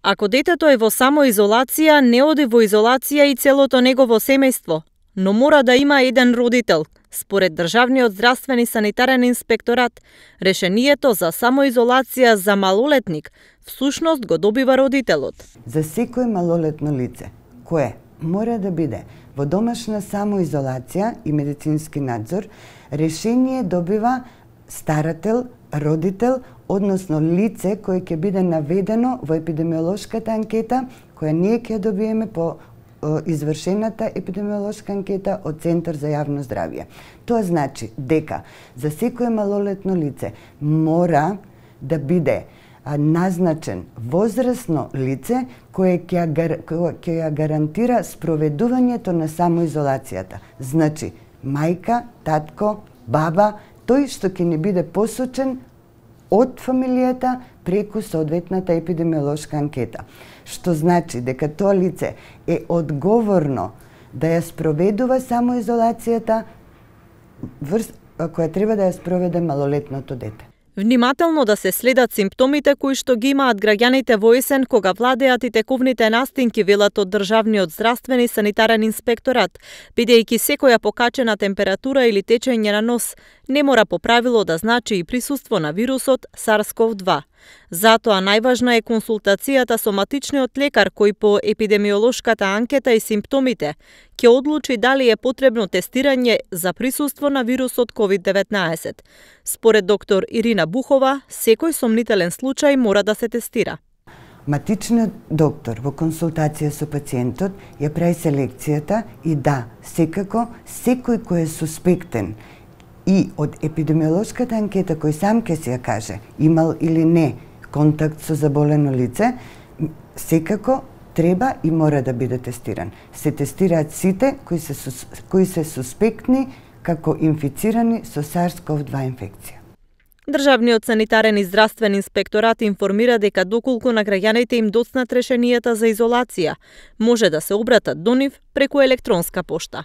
Ако детето е во самоизолација, не оди во изолација и целото негово семејство, но мора да има еден родител. Според Државниот здравствен и санитарен инспекторат, решението за самоизолација за малолетник всушност го добива родителот. За секој малолетно лице, кое мора да биде во домашна самоизолација и медицински надзор, решение добива старател, родител, односно лице кое ќе биде наведено во епидемиолошката анкета, која ние ќе добиеме по извршената епидемиолошка анкета од Центар за јавно здравје. Тоа значи дека за секое малолетно лице мора да биде назначен возрасно лице кое ќе ја гарантира спроведувањето на самоизолацијата. Значи, мајка, татко, баба, тој што ќе ни биде посочен од фамилијата преку соодветната епидемиолошка анкета. Што значи дека тоа лице е одговорно да ја спроведува самоизолацијата која треба да ја спроведе малолетното дете. Внимателно да се следат симптомите кои што ги имаат граѓаните во есен кога владеат и тековните настинки, велат од Државниот здравствен и санитарен инспекторат, бидејќи секоја покачена температура или течење на нос не мора по правило да значи и присуство на вирусот SARS-CoV-2. Затоа најважна е консултацијата со матичниот лекар кој по епидемиолошката анкета и симптомите ќе одлучи дали е потребно тестирање за присуство на вирусот COVID-19. Според доктор Ирина Бухова, секој сомнителен случај мора да се тестира. Матичниот доктор во консултација со пациентот ја прави селекцијата и да, секако, секој кој е суспектен и од епидемиолошката анкета кој сам ќе се ја каже имал или не контакт со заболено лице, секако треба и мора да биде тестиран. Се тестираат сите кои се суспектни како инфицирани со SARS-CoV-2 инфекција. Државниот санитарен и здравствен инспекторат информира дека доколку на граѓаните им доцнат решенијата за изолација, може да се обратат до нив преку електронска пошта.